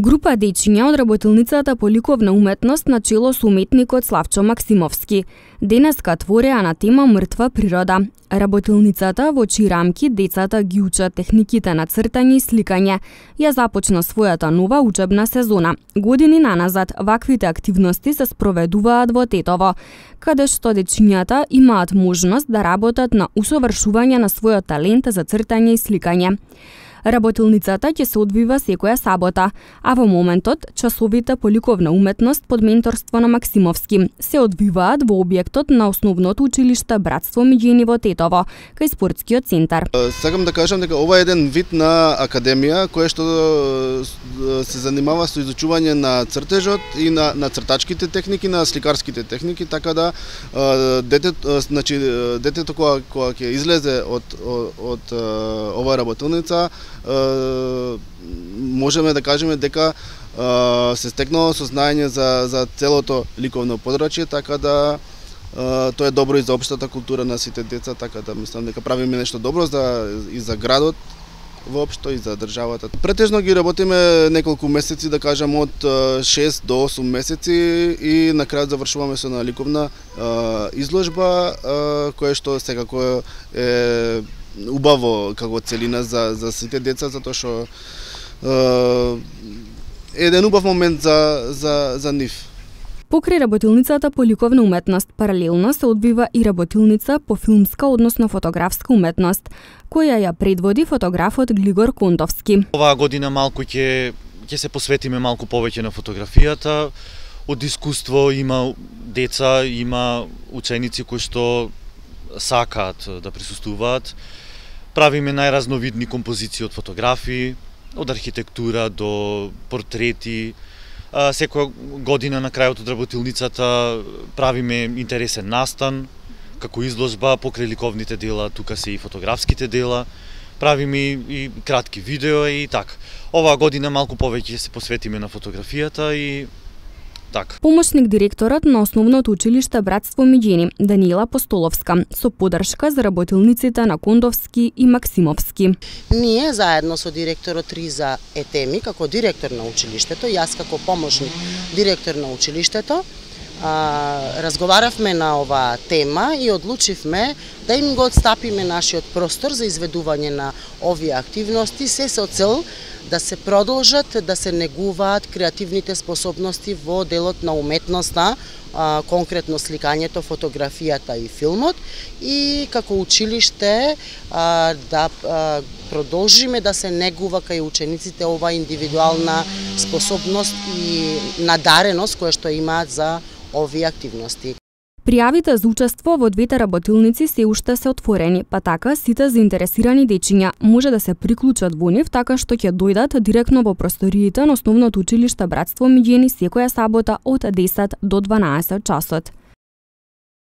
Група дечиња од работилницата по ликовна уметност на чело со уметникот Славчо Максимовски денеска твореа на тема мртва природа. Работилницата во чии рамки децата ги учат техниките на цртање и сликање ја започна својата нова учебна сезона. Години наназад ваквите активности се спроведуваат во Тетово, каде што дечињата имаат можност да работат на усовршување на својот талент за цртање и сликање. Работилницата ќе се одвива секоја сабота, а во моментот часовите по ликовна уметност под менторство на Максимовски се одвиваат во објектот на основното училиште Братство Миѓени во Тетово, кај спортскиот центар. Сакам да кажам дека ова е еден вид на академија која што се занимава со изучување на цртежот и на цртачките техники, на сликарските техники, така да детето кога ќе излезе од оваа работилница можеме да кажеме дека се стекнало сознање за целото ликовно подрачје, така да тоа е добро и за општата култура на сите деца, така да мислам дека правиме нешто добро и за градот воопшто и за државата. Претежно ги работиме неколку месеци, да кажам од 6 до 8 месеци и на крајот завршуваме со една ликовна изложба која што секако е убаво како целина за сите деца, затоа што е еден убав момент за нив. Покрај работилницата по ликовна уметност, паралелно се одвива и работилница по филмска, односно фотографска уметност, која ја предводи фотографот Глигор Кондовски. Оваа година малку ќе се посветиме малку повеќе на фотографијата. Од искуство има деца, има ученици кои што сакаат да присуствуваат. Правиме најразновидни композиции од фотографии, од архитектура до портрети. Секоја година на крајот од работилницата правиме интересен настан, како изложба покрај ликовните дела, тука се и фотографските дела. Правиме и кратки видео и така. Оваа година малку повеќе се посветиме на фотографијата и така. Помошник директорот на основното училиште Братство Миѓени, Даниела Постоловска, со поддршка за работилниците на Кондовски и Максимовски. Ние заедно со директорот Риза Етеми, како директор на училиштето, јас како помошник директор на училиштето, разговаравме на оваа тема и одлучивме да им го отстапиме нашиот простор за изведување на овие активности, се со цел да се продолжат, да се негуваат креативните способности во делот на уметноста, конкретно сликањето, фотографијата и филмот, и како училиште да продолжиме да се негува кај учениците оваа индивидуална способност и надареност која што имаат за овие активности. Пријавите за учество во двете работилници се уште се отворени, па така сите заинтересирани дечиња може да се приклучат во нив така што ќе дојдат директно во просториите на основното училиште Братство Миѓени секоја сабота од 10 до 12 часот.